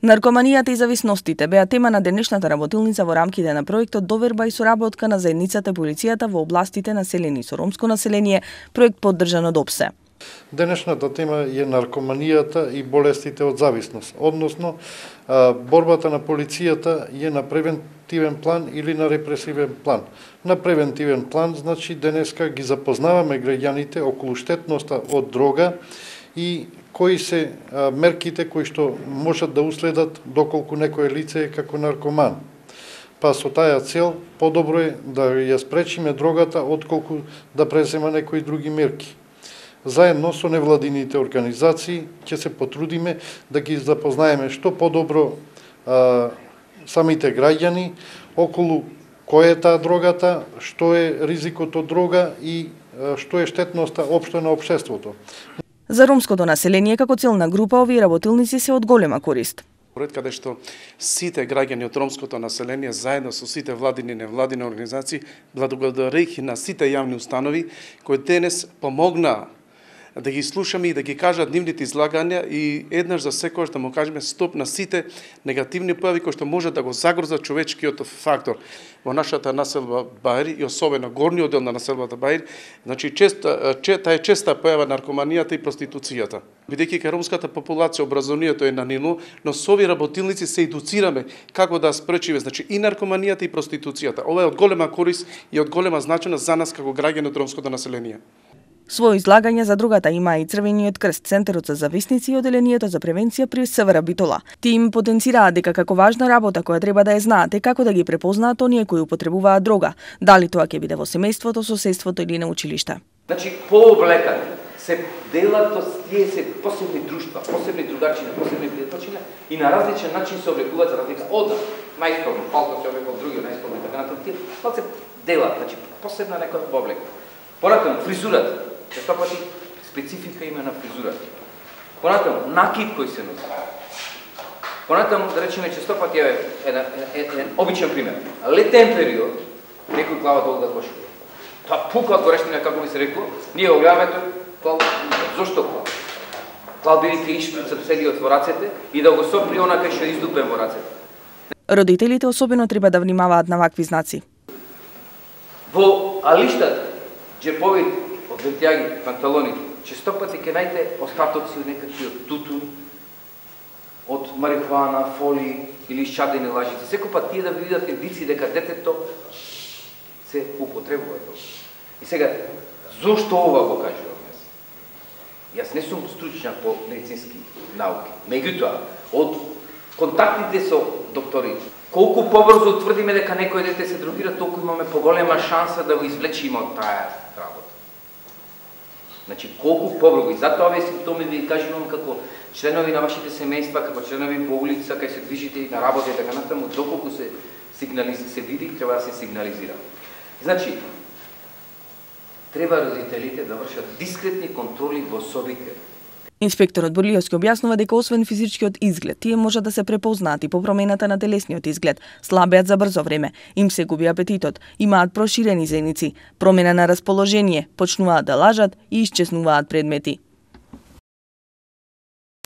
Наркоманијата и зависностите беа тема на денешната работилница во рамките на проектот Доверба и соработка на заедницата и полицијата во областите населени со ромско население, проект поддржан од ОПСЕ. Денешната тема е наркоманијата и болестите од зависност, односно борбата на полицијата е на превентивен план или на репресивен план. На превентивен план, значи денеска ги запознаваме граѓаните околу штетноста од дрога и кои се мерките кои што можат да уследат доколку некое лице е како наркоман. Па со таа цел подобро е да ја спречиме дрогата отколку да презема некои други мерки. Заедно со невладините организации ќе се потрудиме да ги запознаеме што подобро самите граѓани околу која е таа дрогата, што е ризикот од дрога и што е штетноста општо на општеството. За ромското население како целна група овие работилници се од голема корист. Проект каде што сите граѓани од ромското население заедно со сите владини и невладини организации, благодарејќи на сите јавни установи кои денес помогнаа да ги слушаме и да ги кажат нивните излагања и еднаш за секогаш да му кажеме стоп на сите негативни појави кои што може да го загрозат човечкиот фактор во нашата населба Баир и особено горниот дел на населбата Баир. Значи таа е честа појава наркоманијата и проституцијата. Бидејќи кај ромската популација образованието е на ниво, но со овие работилници се едуцираме како да спречиме значи и наркоманијата и проституцијата. Ова е од голема корист и од голема значеност за нас како граѓани од ромското население. Својо излагање за другата има и Црвениот крст, Центарот за зависници и Оделението за превенција при СВР Битола. Тие им потенцираа дека како важна работа која треба да ја знаат е како да ги препознаат оние кои употребуваат дрога, дали тоа ќе биде во семејството, соседството или на училиште. Значи, пооблекани се делат, тие се посебни друштва, посебни другарчина, посебни пријателчина и на различен начин се облекуваат за разлика од најспорно, палто се облекува други најспорно и така натаму. Тие се делат, значи посебна некоја облека. Понатаму фризурата, често пати специфика има на фризурата. Понатаму накид кој се носи. Понатаму да речеме често пати е еден обичен пример. Летен период некој глава долга кошува. Тоа пука од горешнина, како би се рекло, ние го гледаме тоа, зошто клал? Клал бидејќи ишприца целиот во рацете и да го сопри онака што издупен во рацете. Родителите особено треба да внимаваат на вакви знаци. Во алиштата, джеповите, од вентијаги, панталоните, често пати ќе најдете остатоци од некакви од тутун, од марихуана, фоли или шадени лажици. Секој пат тие да видат индици дека детето се употребува тоа. И сега, зошто ова го кажувам јас? Јас не сум стручњак по медицински науки. Меѓутоа, од контактите со докторите, колку побрзо тврдиме дека некој дете се дрогира, толку имаме поголема шанса да го извлечиме од таа работа. Значи, колку побрзо. И затоа овие симптоми ви кажувам како членови на вашите семејства, како членови по улица, кај се движите и на работа и така натаму, доколку се види, треба да се сигнализира. Значи, треба родителите да вршат дискретни контроли во собите. Инспекторот Бурлиовски објаснува дека освен физичкиот изглед, тие можат да се препознаат и по промената на телесниот изглед, слабеат за брзо време, им се губи апетитот, имаат проширени зеници, промена на расположение, почнуваат да лажат и исчезнуваат предмети.